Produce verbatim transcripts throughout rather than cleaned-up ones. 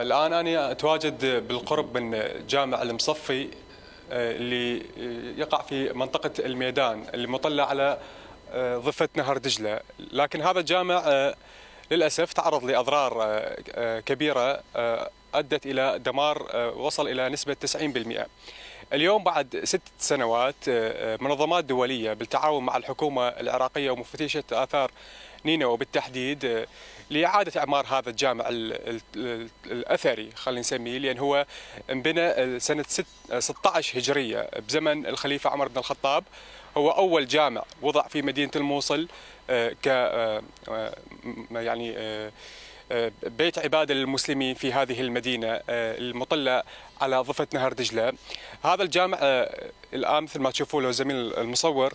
الآن أنا أتواجد بالقرب من جامع المصفي اللي يقع في منطقة الميدان اللي مطلة على ضفة نهر دجلة، لكن هذا الجامع للأسف تعرض لأضرار كبيرة أدت إلى دمار وصل إلى نسبة تسعين بالمئة. اليوم بعد ست سنوات منظمات دولية بالتعاون مع الحكومة العراقية ومفتشة آثار نينوى بالتحديد لإعادة إعمار هذا الجامع الأثري، خلينا نسميه، لأن هو انبنى سنة ستة عشر هجرية بزمن الخليفة عمر بن الخطاب. هو أول جامع وضع في مدينة الموصل ك يعني بيت عبادة للمسلمين في هذه المدينة المطلة على ضفة نهر دجلة. هذا الجامع الآن مثل ما تشوفوا له زميل المصور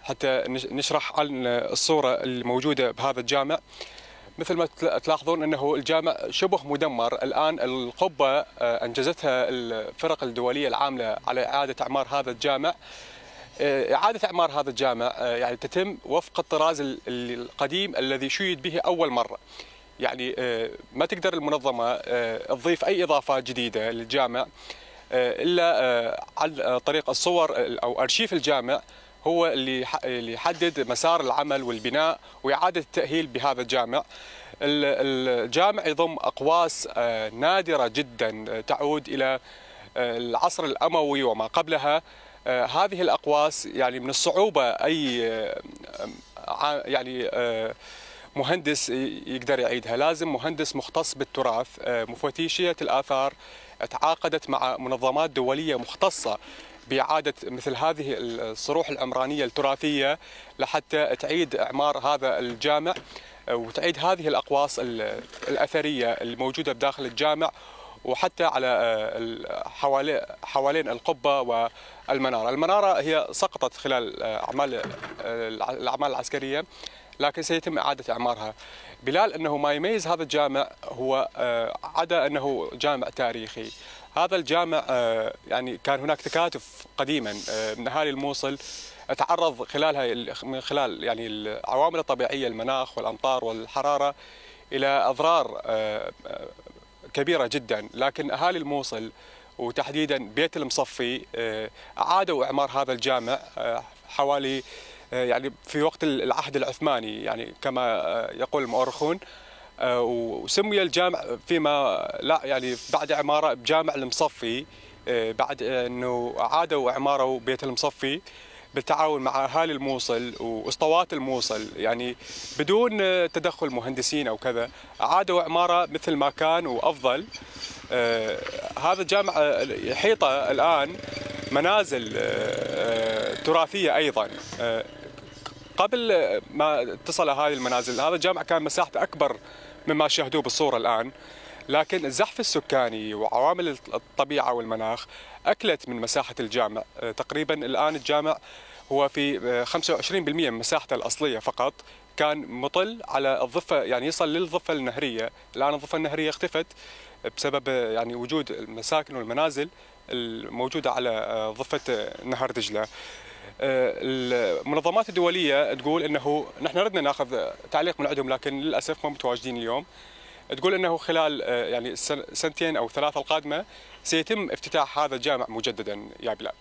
حتى نشرح عن الصورة الموجودة بهذا الجامع. مثل ما تلاحظون أنه الجامع شبه مدمر الآن. القبة أنجزتها الفرق الدولية العاملة على إعادة إعمار هذا الجامع. إعادة إعمار هذا الجامع يعني تتم وفق الطراز القديم الذي شيد به أول مرة. يعني ما تقدر المنظمة تضيف أي إضافات جديدة للجامع إلا عن طريق الصور أو أرشيف الجامع، هو اللي يحدد مسار العمل والبناء وإعادة التأهيل بهذا الجامع. الجامع يضم أقواس نادرة جدا تعود إلى العصر الأموي وما قبلها. هذه الأقواس يعني من الصعوبة أي يعني مهندس يقدر يعيدها، لازم مهندس مختص بالتراث. مفتشية الآثار تعاقدت مع منظمات دولية مختصة بإعادة مثل هذه الصروح العمرانية التراثية لحتى تعيد إعمار هذا الجامع وتعيد هذه الأقواس الأثرية الموجودة بداخل الجامع وحتى على حوالين القبة والمنارة. المنارة هي سقطت خلال أعمال الأعمال العسكرية، لكن سيتم إعادة إعمارها. بلال أنه ما يميز هذا الجامع هو عدا أنه جامع تاريخي. هذا الجامع يعني كان هناك تكاتف قديما من أهالي الموصل تعرض خلالها من خلال يعني العوامل الطبيعية، المناخ والأمطار والحرارة، إلى أضرار كبيرة جدا، لكن أهالي الموصل وتحديدا بيت المصفي أعادوا إعمار هذا الجامع حوالي يعني في وقت العهد العثماني، يعني كما يقول المؤرخون. وسمي الجامع فيما لا يعني بعد إعماره بجامع المصفي، بعد أنه أعادوا إعماره بيت المصفي بالتعاون مع أهالي الموصل وأسطوات الموصل، يعني بدون تدخل مهندسين أو كذا، أعادوا إعماره مثل ما كان وأفضل. هذا الجامع يحيطه الآن منازل تراثية أيضا. قبل ما اتصل هذه المنازل هذا الجامع كان مساحته أكبر مما شاهدوه بالصورة الآن، لكن الزحف السكاني وعوامل الطبيعة والمناخ أكلت من مساحة الجامع. تقريبا الآن الجامع هو في خمسة وعشرين بالمئة من مساحته الأصلية فقط، كان مطل على الضفة يعني يصل للضفة النهرية. الآن الضفة النهرية اختفت بسبب يعني وجود المساكن والمنازل الموجودة على ضفة نهر دجلة. المنظمات الدولية تقول أنه نحن ردنا ناخذ تعليق من عندهم، لكن للأسف ما متواجدين اليوم. تقول أنه خلال يعني سنتين أو ثلاثة القادمة سيتم افتتاح هذا الجامع مجددا يا بلال.